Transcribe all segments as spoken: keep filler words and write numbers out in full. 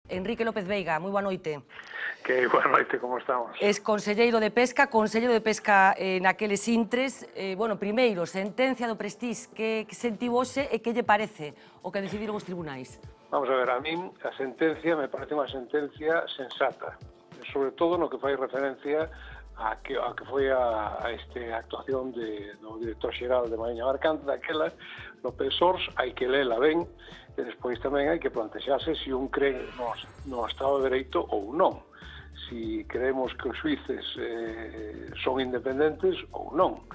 Enrique López Veiga, moi boa noite. Que boa noite, como estamos? Es conselleiro de Pesca, conselleiro de Pesca eh, naqueles intres. Eh, bueno, primeiro, sentencia do Prestige, que, que sentiu hoxe e que lle parece o que decidiron os tribunais? Vamos a ver, a min a sentencia me parece unha sentencia sensata, sobre todo no que fai referencia a que, a que foi a, a este actuación de, do director xeral de Mariña Mercante, daquela, López Sors, hai que lela ben, e despois tamén hai que plantexarse se un cree no, no Estado de Dereito ou non. Si creemos que os xuíces eh, son independentes ou non.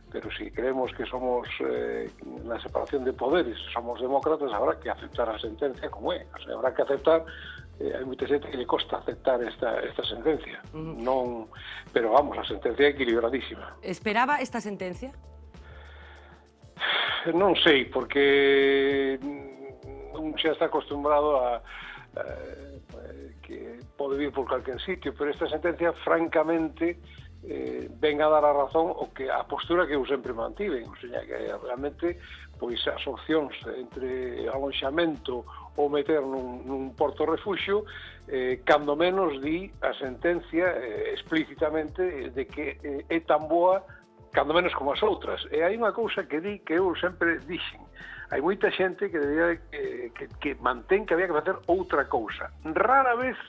Pero si creemos que somos eh, na separación de poderes, somos demócratas, habrá que aceptar a sentencia como é. O sea, habrá que aceptar, eh, hai moita xente que lle costa aceptar esta, esta sentencia. Uh-huh. Non, pero vamos, a sentencia é equilibradísima. Esperaba esta sentencia? Non sei, porque un xa está acostumbrado a, a que pode vir por calquer sitio, pero esta sentencia, francamente, eh, ven a dar a razón o que a postura que eu sempre mantiven, o sea, que realmente pois as opcións entre alonxamento ou meter nun, nun porto refuxio, eh, cando menos di a sentencia eh, explícitamente de que eh, é tan boa cando menos como as outras. E hai unha cousa que di que eu sempre dixen, hai moita xente que debía que, que, que mantén que había que facer outra cousa. Rara vez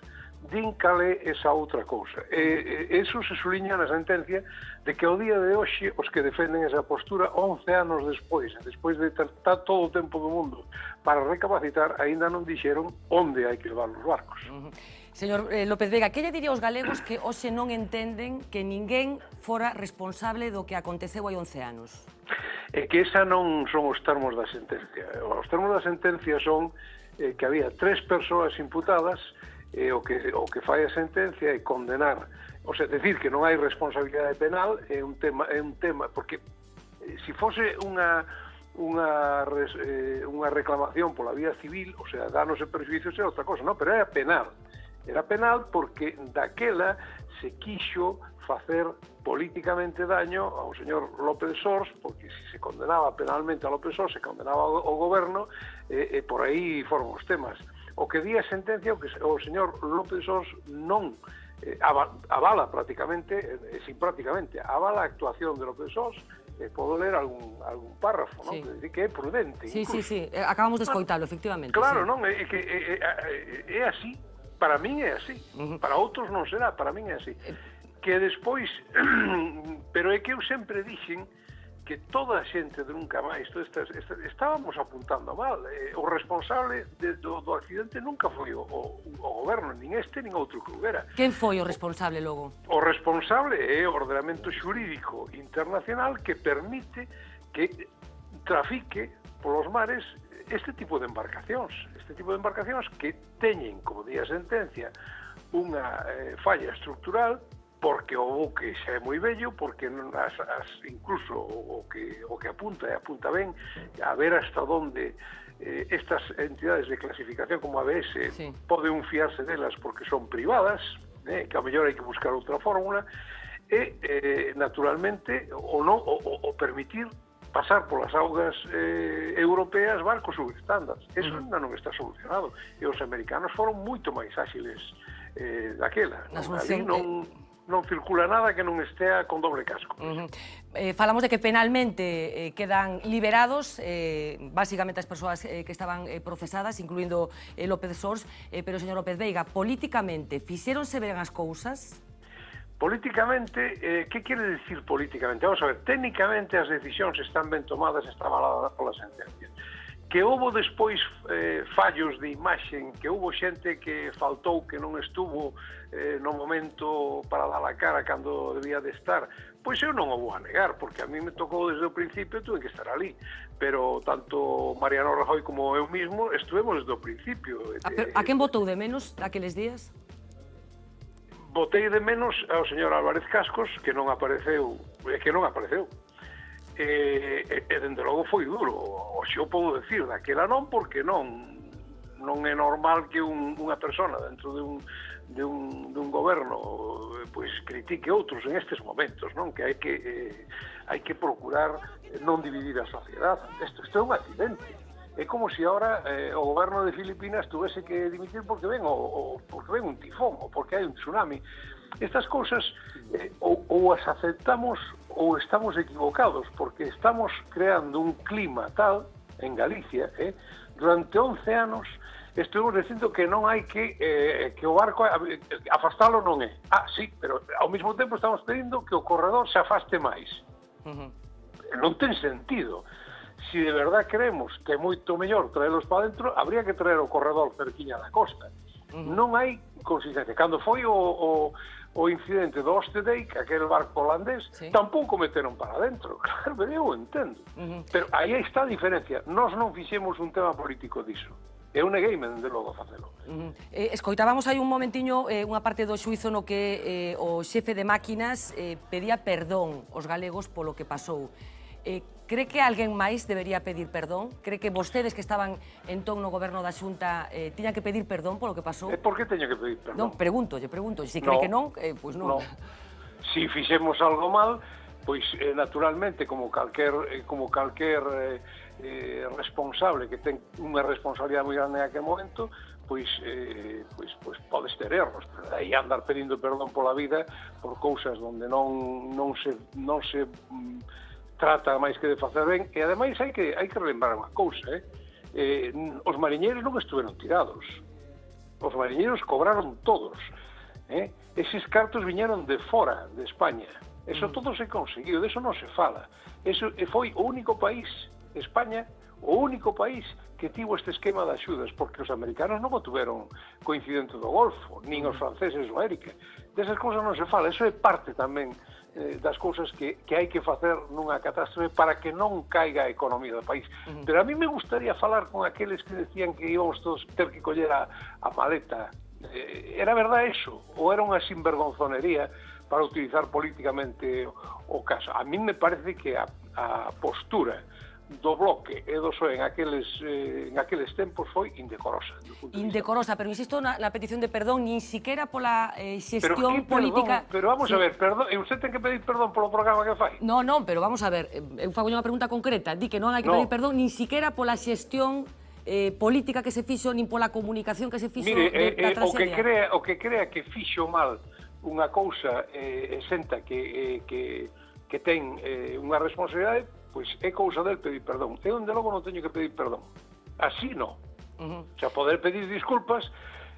din cal é esa outra cousa. E, e eso se suliña na sentencia de que ao día de hoxe os que defenden esa postura once anos despois, despois de ter todo o tempo do mundo para recapacitar, aínda non dixeron onde hai que levar os barcos. Uh-huh. Señor eh, López Veiga, que lle diría aos galegos que hoxe non entenden que ninguén fora responsable do que aconteceu hai once anos? É que esa non son os termos da sentencia. Os termos da sentencia son eh, que había tres persoas imputadas e o que, o que fai a sentencia é condenar, o sea, decir que non hai responsabilidade penal é un tema, é un tema porque eh, se fose unha unha, res, eh, unha reclamación pola vía civil, o sea, danos e perjuicios é outra cosa, non, pero era penal. Era penal porque daquela se quixo facer políticamente daño ao señor López Sors, porque se se condenaba penalmente a López Sors, se condenaba ao goberno, e, e por aí foron os temas. O que di a sentencia, o que o señor López Sors non eh, avala prácticamente, eh, sin prácticamente, avala a actuación de López Sors. Eh, podo ler algún, algún párrafo, non? Sí. Que dice que é prudente. Sí, incluso. sí, sí, acabamos de escoitalo, efectivamente. Claro, sí. Non, é que é, é, é así. Para min é así. Uh-huh. Para outros non será, para min é así. Que despois, pero é que eu sempre dixen que toda a xente de nunca máis, esta, esta, estábamos apuntando mal. Eh, o responsable de, do, do accidente nunca foi o, o, o goberno, nin este, nin outro que houbera. Quen foi o responsable logo? O responsable é o ordenamento xurídico internacional que permite que trafique polos mares este tipo de embarcacións. Este tipo de embarcacións que teñen, como di a sentencia, unha eh, falla estructural porque o buque xa é moi vello, porque as, as, incluso o, o, que, o que apunta, e apunta ben, a ver hasta onde eh, estas entidades de clasificación como A B S sí. poden fiarse delas porque son privadas, eh, que a mellor hai que buscar outra fórmula, e, eh, naturalmente, o, no, o, o permitir pasar polas augas eh, europeas barcos subestándares. Eso uh-huh. ainda non está solucionado. E os americanos foron moito máis áxiles eh, daquela. Na solución... non, non circula nada que non estea con doble casco. Uh-huh. eh, falamos de que penalmente eh, quedan liberados eh, básicamente as persoas eh, que estaban eh, procesadas, incluindo eh, López Sors, eh, pero, señor López Veiga, políticamente, fixéronse ben as cousas? Políticamente, eh, que quere dicir políticamente? Vamos a ver, técnicamente as decisións están ben tomadas, está avalada pola sentencia. Que houbo despois eh, fallos de imaxen, que houbo xente que faltou, que non estuvo eh, no momento para dar a cara cando debía de estar, pois eu non o vou a negar, porque a mí me tocou desde o principio, tuve que estar ali. Pero tanto Mariano Rajoy como eu mismo estuvemos desde o principio. A, pero, a quen votou de menos daqueles días? Votei de menos ao señor Álvarez Cascos, que non apareceu, que non apareceu. E, e, e dende logo foi duro, o xe o podo decir, daquela non, porque non non é normal que un, unha persona dentro de un, de un, de un goberno pois critique outros en estes momentos, non? Que hai que eh, hai que procurar non dividir a sociedade. Isto, isto é un accidente. é como se agora eh, o goberno de Filipinas tuvese que dimitir porque ven, o, o, porque ven un tifón ou porque hai un tsunami. Estas cousas eh, ou, ou as aceptamos ou estamos equivocados, porque estamos creando un clima tal en Galicia, eh, durante once anos estuvimos dicindo que non hai que eh, que o barco afastalo non é. Ah, sí, pero ao mesmo tempo estamos pedindo que o corredor se afaste máis. Uh-huh. Non ten sentido. Si de verdad creemos que é moito mellor traelos para dentro, habría que traer o corredor cerquiña da costa. Uh-huh. Non hai consistencia. Cando foi o, o, o incidente do Ostedijk, aquel barco holandés, sí, tampouco meteron para dentro. Claro, pero eu entendo. Uh-huh. Pero aí está a diferencia. Nós non fixemos un tema político diso. Eu negueime, dende logo, a facelo. Uh-huh. eh, escoitábamos aí un momentiño eh, unha parte do xuizo no que eh, o xefe de máquinas eh, pedía perdón aos galegos polo que pasou. Eh, cree que alguén máis debería pedir perdón? Cree que vostedes que estaban entón no goberno da Xunta eh, tiñan que pedir perdón polo que pasou? E por que teño que pedir perdón? Non, pregunto, lle pregunto. Se cree no, que non, eh, pois non. No. Si fixemos algo mal, pois eh, naturalmente, como calquer, eh, como calquer eh, eh, responsable que ten unha responsabilidade moi grande en aquel momento, pois, eh, pois, pois podes ter erros, pero aí andar pedindo perdón pola vida por cousas onde non, non se... Non se mm, trata máis que de facer ben, e ademais hai que, hai que relembrar unha cousa, eh? Eh, os mariñeiros non estuveron tirados, os mariñeiros cobraron todos, eh? Eses cartos viñeron de fora de España, eso mm. todo se conseguiu, de eso non se fala, eso foi o único país, España, o único país que tivo este esquema de axudas, porque os americanos non o tuveron co incidente do Golfo, nin os franceses do América, desas cousas non se fala, eso é parte tamén das cousas que, que hai que facer nunha catástrofe para que non caiga a economía do país. Uh-huh. Pero a mí me gustaría falar con aqueles que decían que íbamos todos ter que coller a, a maleta. Eh, era verdade eso? Ou era unha sinvergonzonería para utilizar políticamente o, o caso? A mí me parece que a, a postura do Bloque e do P S O E en aqueles, eh, en aqueles tempos foi indecorosa. Indecorosa, pero insisto na, na petición de perdón, nin siquiera pola eh, xestión pero, política... Perdón, pero vamos sí. a ver, perdón, e usted ten que pedir perdón polo programa que fai? Non, non, pero vamos a ver, eu fago unha pregunta concreta, di que non hai que no. pedir perdón nin siquiera pola xestión eh, política que se fixo, nin pola comunicación que se fixo Mire, de, eh, da traxedia. O que, crea, o que crea que fixo mal unha cousa eh, exenta que, eh, que, que ten eh, unha responsabilidade, pois é cousa del pedir perdón. Eu, onde logo, non teño que pedir perdón. Así non. Uh-huh. O sea, poder pedir disculpas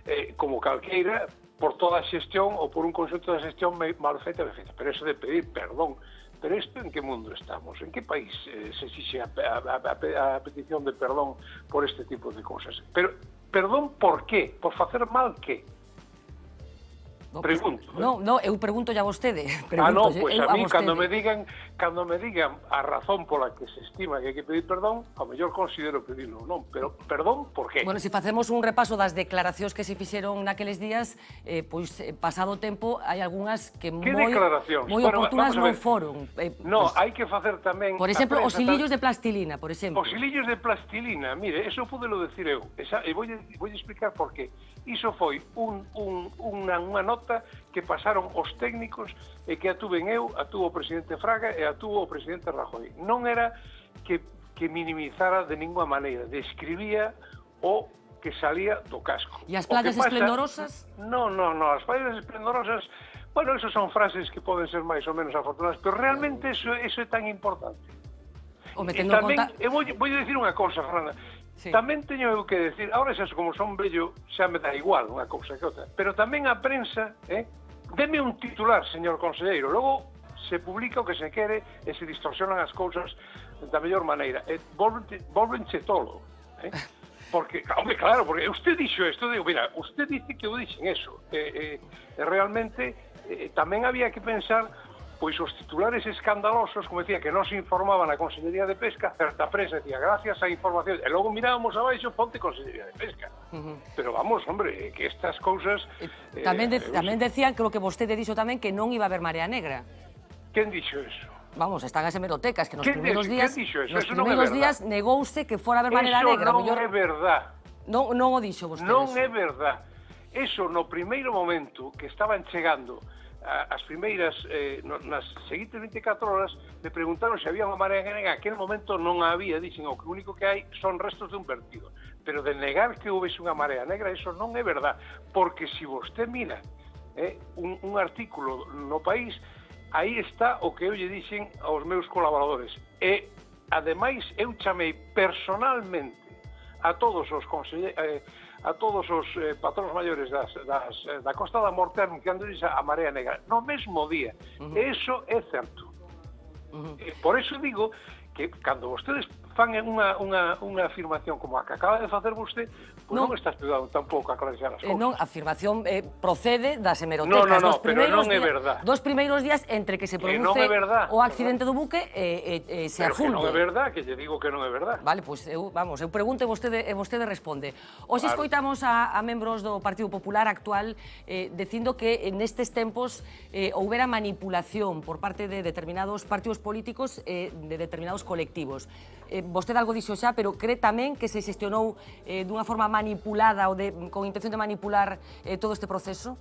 eh, como calqueira por toda a xestión ou por un conxunto de xestión mal feita, mal feita. Pero eso de pedir perdón, pero isto en que mundo estamos? En que país eh, se fixe a, a, a, a petición de perdón por este tipo de cousas? Pero, perdón por qué? Por facer mal que? No, pregunto. No, no, eu pregunto ya a vostede. Ah, no, pois pues a mí, cando me digan cando me digan a razón pola que se estima que hai que pedir perdón, ao mellor considero pedirlo, non, pero perdón, por qué? Bueno, se facemos un repaso das declaracións que se fixeron naqueles días, eh, pois, eh, pasado o tempo, hai algunhas que moi, moi bueno, oportunas non foron. Eh, no, pues, hai que facer tamén... Por exemplo, os hilillos de plastilina, por exemplo. Os hilillos de plastilina, mire, eso pudelo decir eu, esa, e vou, vou explicar por qué. Iso foi un, un, unha, unha nota que pasaron os técnicos e que atuven eu, atuvo o presidente Fraga e atuvo o presidente Rajoy. Non era que, que minimizara de ninguna maneira, describía o que salía do casco. E as playas pasa, esplendorosas? Non, non, non, as playas esplendorosas, bueno, eso son frases que poden ser máis ou menos afortunadas, pero realmente eso, eso é tan importante. O metendo tamén, conta... eu vou, vou dicir unha cousa, Fernanda, sí. Tamén teño eu que decir, ahora xa como son vello, xa me dá igual unha cousa que outra, pero tamén a prensa, eh, deme un titular, señor conselleiro, logo se publica o que se quere e se distorsionan as cousas da mellor maneira, e volvenche tolo, eh? Porque, hombre, claro, porque usted dixo isto, digo, mira, usted dice que eu dixen eso, e, e, e realmente e, tamén había que pensar pois os titulares escandalosos, como decía, que non se informaban a Consellería de Pesca, certa prensa decía, gracias a información, e logo mirábamos abaixo, ponte Consellería de Pesca. Uh-huh. Pero vamos, hombre, que estas cousas... Eh, tamén, de, eh, tamén decían, creo que vostede dixo tamén, que non iba a haber marea negra. Quen dixo eso? Vamos, están as hemerotecas, que nos primeros de, días... Nos eso primeros non días negouse que fora a haber marea eso negra. Eso non mellor... é verdad. Non, non o dixo vostede. Non eso. é verdad. Eso, no primeiro momento que estaban chegando as primeiras, eh, nas seguintes vinte e catro horas, me preguntaron se había unha marea negra. En aquel momento non a había, dixen, o que único que hai son restos de un vertido. Pero de negar que houvese unha marea negra, eso non é verdad, porque se vostede mira eh, un, un artículo no País, aí está o que eu lle dixen aos meus colaboradores. E, ademais, eu chamei personalmente a todos os conselleiros, eh, a todos os eh, patróns maiores das, das, eh, da Costa da Morte anunciándoles a, a Marea Negra no mesmo día. Uh-huh. Eso é certo. Uh-huh. eh, por eso digo que cando vostedes fan unha, unha, unha afirmación como a que acaba de facer vostede, pues non, non está estudando tampouco a clarificar as cousas. Eh, non, a afirmación eh, procede das hemerotecas. No, no, no, dos pero non é verdad. Dos primeiros días entre que se produce non é verdad, o accidente do buque e eh, eh, se pero afunde. Pero que non é verdad, que lle digo que non é verdad. Vale, pois pues, eu, vamos, eu pregunto e vostede, e vostede responde. Hoxe claro. Escoitamos a, a membros do Partido Popular actual eh, dicindo que nestes tempos eh, houbera manipulación por parte de determinados partidos políticos eh, de determinados colectivos. Eh, vostede algo dixo xa, pero cree tamén que se xestionou eh, dunha forma manipulada ou de, con intención de manipular eh, todo este proceso?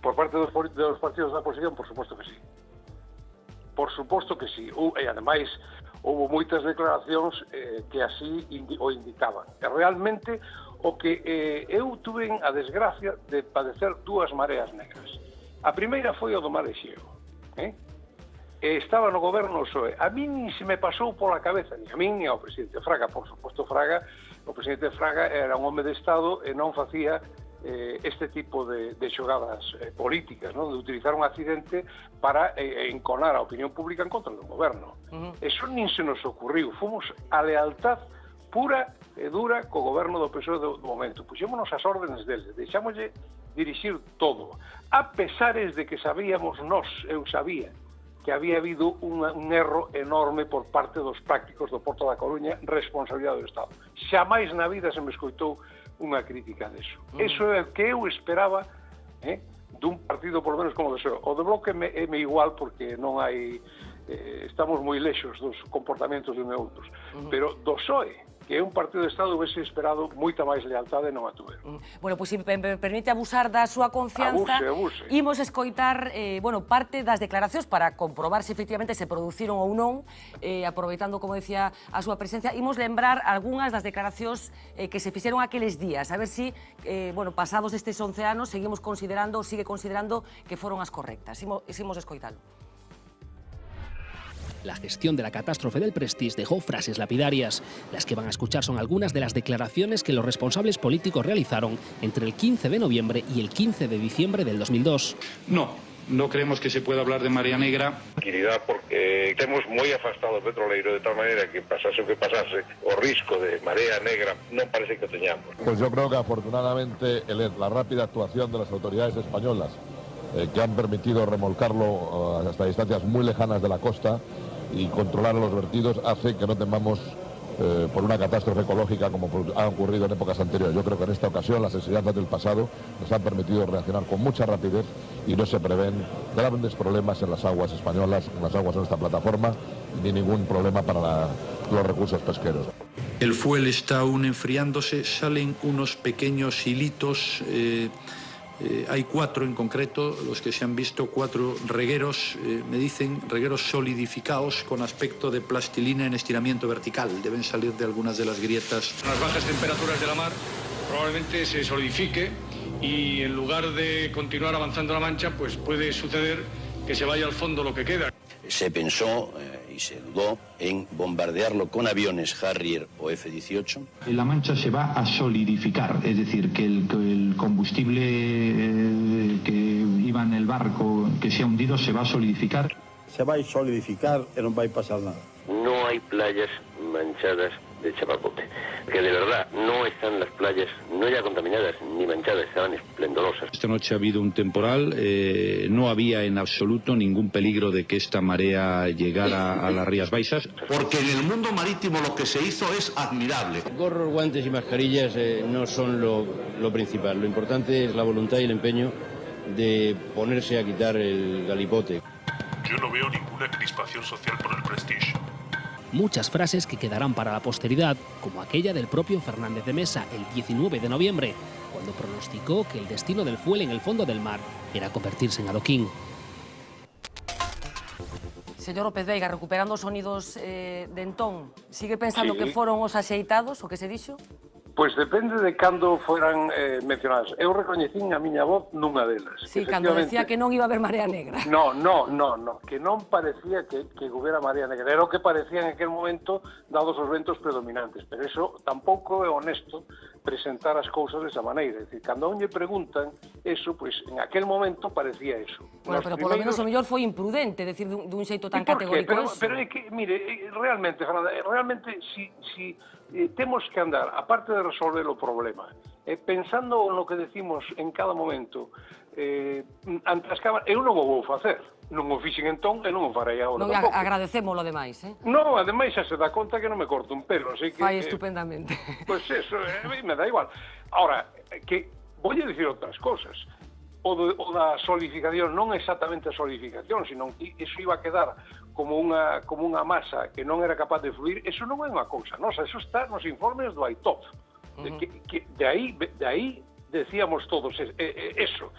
Por parte dos, dos partidos da oposición, por suposto que sí. Por suposto que sí. Uh, e, ademais, houve moitas declaracións eh, que así indi o indicaban. E, realmente, o que eh, eu tuve a desgracia de padecer dúas mareas negras. A primeira foi o do Mar Exeo. Eh? Estaba no goberno o P S O E. A mí nin se me pasou pola cabeza, ni a mí ni ao presidente Fraga. Por suposto, Fraga, o presidente Fraga era un home de Estado e non facía eh, este tipo de, de xogadas eh, políticas, non? De utilizar un accidente para eh, enconar a opinión pública en contra do goberno. Uh-huh. Eso nin se nos ocurriu. Fomos a lealtad pura e dura co goberno do P S O E do, do momento. Puxémonos as órdenes dele, deixámoslle dirixir todo. A pesares de que sabíamos nós, eu sabía, que había habido un, un erro enorme por parte dos prácticos do Porto da Coruña, responsabilidade do Estado. Xamais na vida se me escoitou unha crítica deso. Mm. Eso é o que eu esperaba eh, dun partido, por lo menos como o de P S O E. O de Bloque me, é me igual porque non hai... Eh, estamos moi lexos dos comportamentos de un e outros. Mm. Pero do P S O E, que é un partido de Estado, houvese esperado moita máis lealtade e non a tuveron. Bueno, pois se me permite abusar da súa confianza, abuse, abuse. Imos escoitar eh, bueno, parte das declaracións para comprobar se efectivamente se produciron ou non, eh, aproveitando, como decía, a súa presencia. Imos lembrar algunhas das declaracións eh, que se fixeron aqueles días, a ver se, si, eh, bueno, pasados estes once anos, seguimos considerando, sigue considerando que foron as correctas. Imos, imos escoitalo. La gestión de la catástrofe del Prestige dejó frases lapidarias. Las que van a escuchar son algunas de las declaraciones que los responsables políticos realizaron entre el quince de noviembre y el quince de diciembre del dos mil dos. No, no creemos que se pueda hablar de marea negra. Tranquilidad, porque estemos moi afastados do petroleiro, de tal maneira que pasase o que pasase, o risco de marea negra non parece que teñamos. Pues yo creo que afortunadamente el, la rápida actuación de las autoridades españolas eh, que han permitido remolcarlo uh, hasta distancias muy lejanas de la costa y controlar los vertidos hace que no temamos eh, por una catástrofe ecológica como ha ocurrido en épocas anteriores. Yo creo que en esta ocasión las enseñanzas del pasado nos han permitido reaccionar con mucha rapidez y no se prevén grandes problemas en las aguas españolas, en las aguas de esta plataforma, ni ningún problema para la, los recursos pesqueros. El fuel está aún enfriándose, salen unos pequeños hilitos. Eh, Eh, hay cuatro en concreto, los que se han visto, cuatro regueros, eh, me dicen, regueros solidificados con aspecto de plastilina en estiramiento vertical. Deben salir de algunas de las grietas. Las bajas temperaturas de la mar probablemente se solidifique y en lugar de continuar avanzando la mancha, pues puede suceder que se vaya al fondo lo que queda. Se pensó eh, y se dudó en bombardearlo con aviones Harrier o F dieciocho. La mancha se va a solidificar, es decir, que el, que el combustible eh, que iba en el barco que se ha hundido se va a solidificar. Se va a solidificar y no va a pasar nada. No hay playas manchadas de chapapote, que de verdad no están las playas no ya contaminadas ni manchadas, estaban esplendorosas. Esta noche ha habido un temporal, eh, no había en absoluto ningún peligro de que esta marea llegara a las Rías Baixas. Porque en el mundo marítimo lo que se hizo es admirable. Gorros, guantes y mascarillas eh, no son lo, lo principal, lo importante es la voluntad y el empeño de ponerse a quitar el galipote. Yo no veo ninguna crispación social por el Prestige. Muchas frases que quedarán para la posteridad, como aquella del propio Fernández de Mesa el diecinueve de noviembre, cuando cuando pronosticó que el destino del fuel en el fondo del mar era convertirse en adoquín. Señor López Veiga, recuperando os sonidos eh, de entón, sigue pensando Sí. que foron os axeitados, o que se dixo? Pois depende de cando foran eh, mencionadas. Eu recoñecín a miña voz nunha delas. Sí, cando decía que non iba a haber marea negra. No, no, no, no, que non parecía que, que houbera marea negra. Era o que parecía en aquel momento, dados os ventos predominantes. Pero eso tampouco é honesto presentar as cousas desa maneira. É dicir, cando a un lle preguntan eso, pois en aquel momento parecía eso. Bueno, Nos pero polo primeiros... menos o mellor foi imprudente, decir dun, dun xeito tan ¿Y por qué? categórico Pero, eso. pero é que, mire, eh, realmente, Fernanda, eh, realmente, si, si eh, temos que andar, aparte de resolver o problema, eh, pensando no que decimos en cada momento, eh, ante as cámaras, eu non o vou facer, non o fixen entón e non o farei agora Non, tampouco. agradecémolo demais, eh? Non, ademais xa se dá conta que non me corto un pelo, así que... Fai eh, estupendamente. Pois pues eso, eh, me dá igual. Ahora, que voy a dicir outras cosas. O, de, o da solidificación non exactamente a solidificación, sino que iso iba a quedar como unha, como unha masa que non era capaz de fluir, eso non é unha cousa nosa, eso está nos informes do A I T O P. De, que, que, de, aí, de aí decíamos todos eh, eh, eso.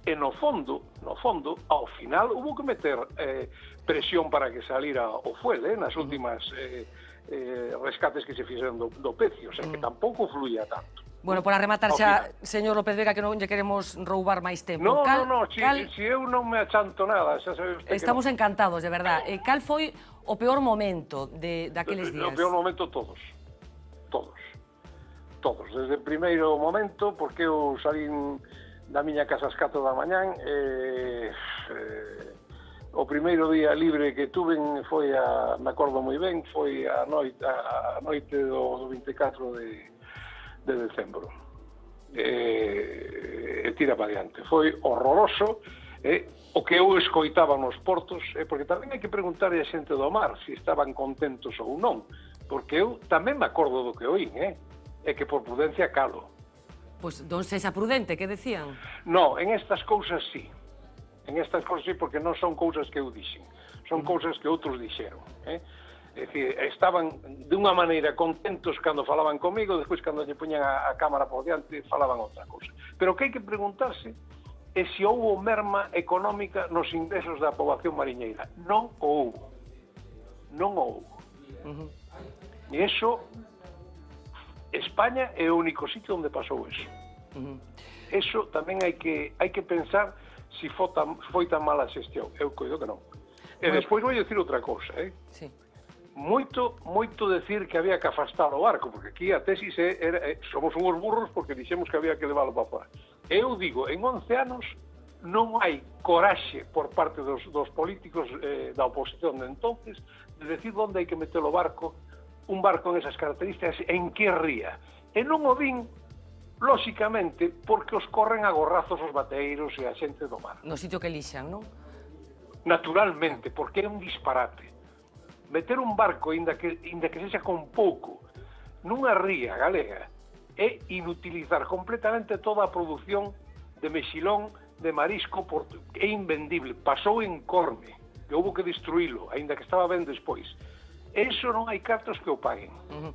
E no fondo, no fondo, ao final hubo que meter eh, presión para que salira o fuel, eh, nas últimas eh, eh, rescates que se fixeron do, do pecio, o sea, que tampouco fluía tanto. Bueno, por rematar xa, señor López Veiga, que non lle queremos roubar máis tempo. No, cal, no, no, si, cal... si eu non me achanto nada, xa sabe usted Estamos que no. encantados, de verdad. Eh, cal foi o peor momento de daqueles días? O peor momento todos, todos, todos. Desde o primeiro momento, porque eu salín da miña casa ás catro da mañán, eh, eh, o primeiro día libre que tuven foi, a, me acordo moi ben, foi a noite, a, a noite do, do vinte e catro de... de decembro. E, e tira para diante. Foi horroroso, eh, o que eu escoitaba nos portos, eh, porque tamén hai que preguntar a xente do mar se si estaban contentos ou non, porque eu tamén me acordo do que oín, eh, e que por prudencia calo. Pois, pues, don sexa prudente, que decían? No, en estas cousas sí. En estas cousas sí, porque non son cousas que eu dixen, son mm. cousas que outros dixeron, eh. É dicir, estaban de unha maneira contentos cando falaban comigo, despois cando lle poñan a, a cámara por diante falaban outra cousa. Pero o que hai que preguntarse é se houbo merma económica nos ingresos da poboación mariñeira. Non o houbo. Non o houbo. Uh -huh. E iso, España é o único sitio onde pasou eso. Uh -huh. Eso tamén hai que hai que pensar se foi tan, foi tan mala a xestión. Eu coido que non. E bueno, despois vou dicir outra cousa, eh? Sí. Moito, moito decir que había que afastar o barco, porque aquí a tesis é, era, é, somos uns burros porque dixemos que había que leválo para fora. Eu digo, en once anos non hai coraxe por parte dos, dos políticos eh, da oposición de entonces de decir onde hai que meter o barco, un barco en esas características, en que ría. E non o din, lóxicamente, porque os corren a gorrazos os bateiros e a xente do mar. No sitio que elixan, non? Naturalmente, porque é un disparate. Meter un barco, inda que, inda que sexa con pouco, nunha ría galega, é inutilizar completamente toda a produción de mexilón, de marisco, por, é invendible. Pasou en Corme, que houve que destruílo, aínda que estaba ben despois. Eso non hai cartos que o paguen. Uh -huh.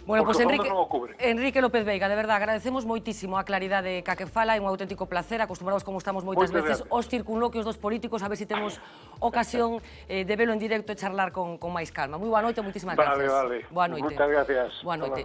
Bueno, pois pues Enrique, Enrique López Veiga, de verdad, agradecemos moitísimo a claridade ca que fala, é un auténtico placer, acostumbrados como estamos moitas Moite veces aos circunloquios dos políticos, a ver se si temos ocasión eh, de velo en directo e charlar con, con máis calma. Moi boa noite, moitísimas vale, gracias. Vale, vale. Boa noite. Moitas gracias. Boa noite.